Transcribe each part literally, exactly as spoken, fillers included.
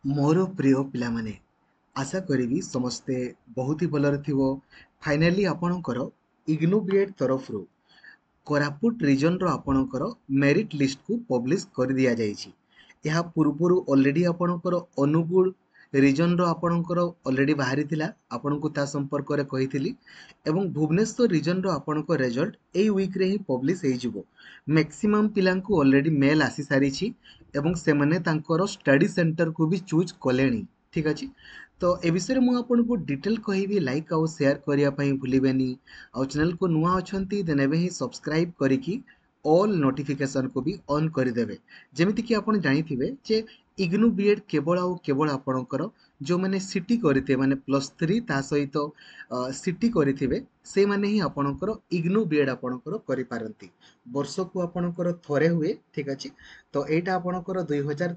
ମୋର ପ୍ରିୟ ପିଲାମାନେ, ଆଶା କରିବି ସମସ୍ତେ ବହୁତ ହି ଭଲରେ ଥିବ। ଫାଇନାଲି ଆପଣଙ୍କର ଇଗ୍ନୋ ବିଏଡ଼୍ ତରଫରୁ କୋରାପୁଟ ରିଜନର ଆପଣଙ୍କର ମେରିଟ୍ ଲିଷ୍ଟକୁ ପବ୍ଲିଶ କରିଦିଆଯାଇଛି। ଏହା ପୂର୍ବରୁ ଅଲରେଡ଼ି ଆପଣଙ୍କର ଅନୁଗୁଳ ରିଜନର ଆପଣଙ୍କର ଅଲରେଡ଼ି ବାହାରିଥିଲା, ଆପଣଙ୍କୁ ତା ସମ୍ପର୍କରେ କହିଥିଲି, ଏବଂ ଭୁବନେଶ୍ୱର ରିଜନର ଆପଣଙ୍କ ରେଜଲ୍ଟ ଏଇ ୱିକ୍ରେ ହିଁ ପବ୍ଲିଶ ହେଇଯିବ। ମ୍ୟାକ୍ସିମମ୍ ପିଲାଙ୍କୁ ଅଲରେଡ଼ି ମେଲ୍ ଆସିସାରିଛି ଏବଂ ସେମାନେ ତାଙ୍କର ଷ୍ଟଡି ସେଣ୍ଟରକୁ ବି ଚୁଜ୍ କଲେଣି। ଠିକ୍ ଅଛି, ତ ଏ ବିଷୟରେ ମୁଁ ଆପଣଙ୍କୁ ଡିଟେଲ୍ କହିବି। ଲାଇକ୍ ଆଉ ସେୟାର କରିବା ପାଇଁ ଭୁଲିବେନି, ଆଉ ଚ୍ୟାନେଲକୁ ନୂଆ ଅଛନ୍ତି ଦେନ୍ ଏବେ ହିଁ ସବସ୍କ୍ରାଇବ୍ କରିକି ଅଲ୍ ନୋଟିଫିକେସନ୍କୁ ବି ଅନ୍ କରିଦେବେ। ଯେମିତିକି ଆପଣ ଜାଣିଥିବେ ଯେ ଇଗ୍ନୁ ବିଏଡ଼୍ କେବଳ ଆଉ କେବଳ ଆପଣଙ୍କର ଯେଉଁମାନେ ସିଟି କରିଥିବେ, ମାନେ ପ୍ଲସ୍ ଥ୍ରୀ ତା ସହିତ ସିଟି କରିଥିବେ, ସେଇମାନେ ହିଁ ଆପଣଙ୍କର ଇଗ୍ନୁ ବିଏଡ଼୍ ଆପଣଙ୍କର କରିପାରନ୍ତି। ବର୍ଷକୁ ଆପଣଙ୍କର ଥରେ ହୁଏ। ଠିକ୍ ଅଛି, ତ ଏଇଟା ଆପଣଙ୍କର ଦୁଇ ହଜାର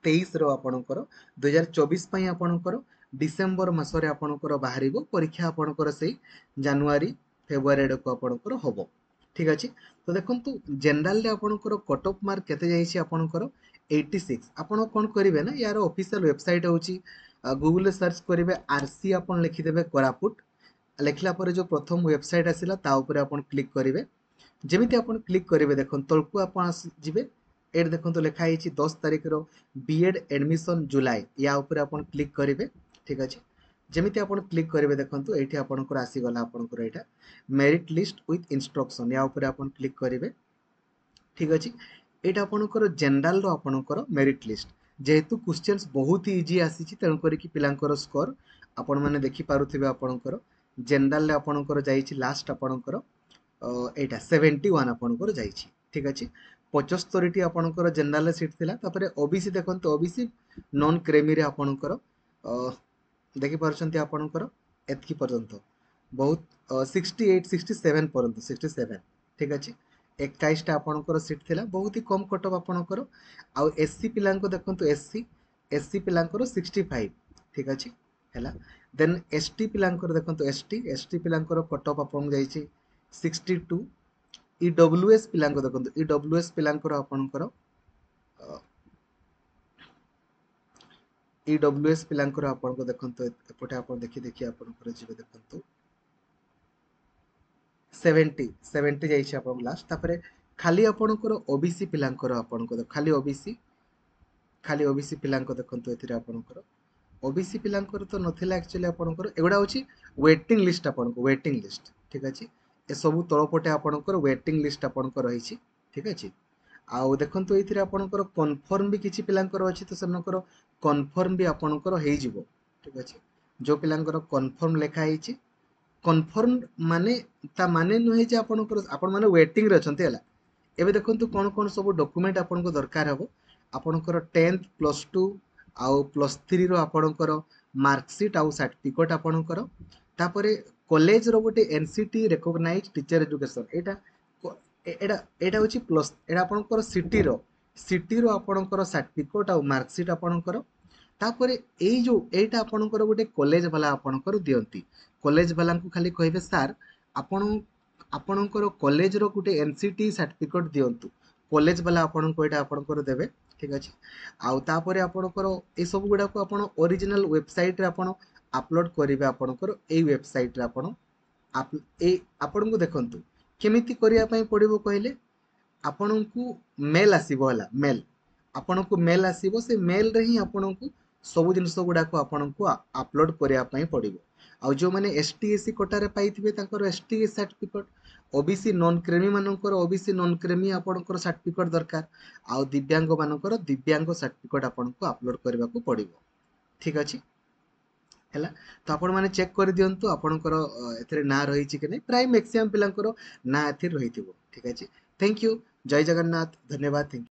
ତେଇଶର ଆପଣଙ୍କର ଦୁଇ ହଜାର ଚବିଶ ପାଇଁ ଆପଣଙ୍କର ଡିସେମ୍ବର ମାସରେ ଆପଣଙ୍କର ବାହାରିବ ପରୀକ୍ଷା, ଆପଣଙ୍କର ସେଇ ଜାନୁଆରୀ ଫେବୃଆରୀ ଆଡ଼କୁ ଆପଣଙ୍କର ହେବ। ଠିକ୍ ଅଛି, ତ ଦେଖନ୍ତୁ ଜେନେରାଲରେ ଆପଣଙ୍କର କଟ୍ ଅଫ୍ ମାର୍କ କେତେ ଯାଇଛି, ଆପଣଙ୍କର ଏଇଟି ସିକ୍ସ। ଆପଣ କ'ଣ କରିବେ ନା, ୟାର ଅଫିସିଆଲ ୱେବସାଇଟ୍ ହେଉଛି, ଗୁଗୁଲରେ ସର୍ଚ୍ଚ କରିବେ ଆର୍ ସି ଆପଣ ଲେଖିଦେବେ କୋରାପୁଟ। ଲେଖିଲା ପରେ ଯେଉଁ ପ୍ରଥମ ୱେବସାଇଟ୍ ଆସିଲା ତା ଉପରେ ଆପଣ କ୍ଲିକ୍ କରିବେ। ଯେମିତି ଆପଣ କ୍ଲିକ୍ କରିବେ, ଦେଖନ୍ତୁ ତଳକୁ ଆପଣ ଯିବେ, ଏଇଠି ଦେଖନ୍ତୁ ଲେଖା ହେଇଛି ଦଶ ତାରିଖର ବି ଏଡ଼୍ ଆଡ଼ମିସନ୍ ଜୁଲାଇ, ୟା ଉପରେ ଆପଣ କ୍ଲିକ୍ କରିବେ। ଠିକ୍ ଅଛି, ଯେମିତି ଆପଣ କ୍ଲିକ୍ କରିବେ ଦେଖନ୍ତୁ ଏଇଠି ଆପଣଙ୍କର ଆସିଗଲା ଆପଣଙ୍କର ଏଇଟା ମେରିଟ୍ ଲିଷ୍ଟ ୱିଥ୍ ଇନଷ୍ଟ୍ରକ୍ସନ୍, ୟା ଉପରେ ଆପଣ କ୍ଲିକ୍ କରିବେ। ଠିକ୍ ଅଛି, ଏଇଟା ଆପଣଙ୍କର ଜେନେରାଲର ଆପଣଙ୍କର ମେରିଟ୍ ଲିଷ୍ଟ। ଯେହେତୁ କ୍ୱେଶ୍ଚନ୍ସ ବହୁତ ଇଜି ଆସିଛି, ତେଣୁ କରିକି ପିଲାଙ୍କର ସ୍କୋର ଆପଣମାନେ ଦେଖିପାରୁଥିବେ। ଆପଣଙ୍କର ଜେନେରାଲରେ ଆପଣଙ୍କର ଯାଇଛି ଲାଷ୍ଟ ଆପଣଙ୍କର ଏଇଟା ସେଭେଣ୍ଟି ୱାନ୍ ଆପଣଙ୍କର ଯାଇଛି। ଠିକ୍ ଅଛି, ପଚସ୍ତରୀଟି ଆପଣଙ୍କର ଜେନେରାଲରେ ସିଟ୍ ଥିଲା। ତାପରେ ଓବିସି ଦେଖନ୍ତୁ, ଓବିସି ନନ୍ କ୍ରେମିରେ ଆପଣଙ୍କର ଦେଖିପାରୁଛନ୍ତି ଆପଣଙ୍କର ଏତିକି ପର୍ଯ୍ୟନ୍ତ ବହୁତ ସିକ୍ସଟି ଏଇଟ୍ ସିକ୍ସଟି ସେଭେନ୍ ପର୍ଯ୍ୟନ୍ତ ସିକ୍ସଟି ସେଭେନ୍। ଠିକ୍ ଅଛି, ଏକାଇଶଟା ଆପଣଙ୍କର ସିଟ୍ ଥିଲା, ବହୁତ ହି କମ୍ କଟ୍ ଅଫ୍ ଆପଣଙ୍କର। ଆଉ ଏସ୍ ସି ପିଲାଙ୍କୁ ଦେଖନ୍ତୁ, ଏସ୍ ସି ଏସ୍ ସି ପିଲାଙ୍କର ସିକ୍ସଟି ଫାଇଭ୍। ଠିକ୍ ଅଛି, ହେଲା। ଦେନ୍ ଏସ୍ ଟି ପିଲାଙ୍କର ଦେଖନ୍ତୁ, ଏସ୍ ଟି ଏସ୍ ଟି ପିଲାଙ୍କର କଟ୍ ଅଫ୍ ଆପଣଙ୍କୁ ଯାଇଛି ସିକ୍ସଟି ଟୁ। ଇ ଡବ୍ଲ୍ୟୁ ଏସ୍ ପିଲାଙ୍କୁ ଦେଖନ୍ତୁ, ଇ ଡବ୍ଲ୍ୟୁ ଏସ୍ ପିଲାଙ୍କର ଆପଣଙ୍କର ଇ ଡବ୍ଲ୍ୟୁ ଏସ୍ ପିଲାଙ୍କର ଆପଣଙ୍କୁ ଦେଖନ୍ତୁ ଏପଟେ ଆପଣ ଦେଖି ଦେଖି ଆପଣଙ୍କର ଯିବେ, ଦେଖନ୍ତୁ ସେଭେଣ୍ଟି ସେଭେଣ୍ଟି ଯାଇଛି ଆପଣଙ୍କୁ ଲାଷ୍ଟ। ତାପରେ ଖାଲି ଆପଣଙ୍କର ଓବିସି ପିଲାଙ୍କର ଆପଣଙ୍କ ଖାଲି ଓବିସି ଖାଲି ଓବିସି ପିଲାଙ୍କ ଦେଖନ୍ତୁ ଏଥିରେ ଆପଣଙ୍କର ଓବିସି ପିଲାଙ୍କର ତ ନଥିଲା ଆକ୍ଚୁଆଲି ଆପଣଙ୍କର। ଏଗୁଡ଼ା ହେଉଛି ୱେଟିଂ ଲିଷ୍ଟ, ଆପଣଙ୍କ ୱେଟିଂ ଲିଷ୍ଟ। ଠିକ୍ ଅଛି, ଏସବୁ ତଳପଟେ ଆପଣଙ୍କର ୱେଟିଂ ଲିଷ୍ଟ ଆପଣଙ୍କର ରହିଛି। ଠିକ୍ ଅଛି, ଆଉ ଦେଖନ୍ତୁ ଏଇଥିରେ ଆପଣଙ୍କର କନଫର୍ମ ବି କିଛି ପିଲାଙ୍କର ଅଛି, ତ ସେମାନଙ୍କର କନଫର୍ମ ବି ଆପଣଙ୍କର ହେଇଯିବ। ଠିକ୍ ଅଛି, ଯେଉଁ ପିଲାଙ୍କର କନଫର୍ମ ଲେଖା ହେଇଛି, କନଫର୍ମ ମାନେ ତା ମାନେ ନୁହେଁ ଯେ ଆପଣଙ୍କର ଆପଣମାନେ ୱେଟିଂରେ ଅଛନ୍ତି। ହେଲା, ଏବେ ଦେଖନ୍ତୁ କ'ଣ କ'ଣ ସବୁ ଡକୁମେଣ୍ଟ ଆପଣଙ୍କୁ ଦରକାର ହେବ। ଆପଣଙ୍କର ଟେନ୍ଥ ପ୍ଲସ୍ ଟୁ ଆଉ ପ୍ଲସ୍ ଥ୍ରୀର ଆପଣଙ୍କର ମାର୍କସିଟ୍ ଆଉ ସାର୍ଟିଫିକେଟ୍ ଆପଣଙ୍କର, ତାପରେ କଲେଜର ଗୋଟେ N C T recognise teacher education, ଏଇଟା ଏଇଟା ଏଇଟା ହେଉଛି ପ୍ଲସ୍, ଏଇଟା ଆପଣଙ୍କର ସିଟିର ସିଟିର ଆପଣଙ୍କର ସାର୍ଟିଫିକେଟ୍ ଆଉ ମାର୍କସିଟ୍ ଆପଣଙ୍କର। ତାପରେ ଏଇ ଯେଉଁ ଏଇଟା ଆପଣଙ୍କର ଗୋଟେ କଲେଜ ବାଲା ଆପଣଙ୍କର ଦିଅନ୍ତି, କଲେଜ ବାଲାଙ୍କୁ ଖାଲି କହିବେ ସାର୍ ଆପଣ ଆପଣଙ୍କର କଲେଜର ଗୋଟେ ଏନ୍ ସି ଟି ସାର୍ଟିଫିକେଟ୍ ଦିଅନ୍ତୁ, କଲେଜ ବାଲା ଆପଣଙ୍କୁ ଏଇଟା ଆପଣଙ୍କର ଦେବେ। ଠିକ୍ ଅଛି, ଆଉ ତାପରେ ଆପଣଙ୍କର ଏସବୁ ଗୁଡ଼ାକୁ ଆପଣ ଅରିଜିନାଲ୍ ୱେବସାଇଟ୍ରେ ଆପଣ ଆପଲୋଡ଼ କରିବେ। ଆପଣଙ୍କର ଏଇ ୱେବସାଇଟ୍ରେ ଆପଣ ଏଇ ଆପଣଙ୍କୁ ଦେଖନ୍ତୁ କେମିତି କରିବା ପାଇଁ ପଡ଼ିବ କହିଲେ, ଆପଣଙ୍କୁ ମେଲ୍ ଆସିବ। ହେଲା, ମେଲ୍ ଆପଣଙ୍କୁ ମେଲ୍ ଆସିବ, ସେ ମେଲ୍ରେ ହିଁ ଆପଣଙ୍କୁ ସବୁ ଜିନିଷ ଗୁଡ଼ାକୁ ଆପଣଙ୍କୁ ଆପଲୋଡ଼ କରିବା ପାଇଁ ପଡ଼ିବ। ଆଉ ଯେଉଁମାନେ ଏସ୍ ଟି ଏସ୍ ସି କୋଟାରେ ପାଇଥିବେ ତାଙ୍କର S T S certificate, O B C non creamy ମାନଙ୍କର ଓ ବି ସି ନନ୍ କ୍ରେମି ଆପଣଙ୍କର ସାର୍ଟିଫିକେଟ୍ ଦରକାର, ଆଉ ଦିବ୍ୟାଙ୍ଗମାନଙ୍କର ଦିବ୍ୟାଙ୍ଗ ସାର୍ଟିଫିକେଟ୍ ଆପଣଙ୍କୁ ଆପଲୋଡ଼ କରିବାକୁ ପଡ଼ିବ। ଠିକ୍ ଅଛି, ହେଲା, ତ ଆପଣମାନେ ଚେକ୍ କରିଦିଅନ୍ତୁ ଆପଣଙ୍କର ଏଥିରେ ନାଁ ରହିଛି କି ନାହିଁ। ପ୍ରାୟ ମ୍ୟାକ୍ସିମମ୍ ପିଲାଙ୍କର ନାଁ ଏଥିରେ ରହିଥିବ। ଠିକ୍ ଅଛି, thank you, ଜୟ ଜଗନ୍ନାଥ, ଧନ୍ୟବାଦ, thank you.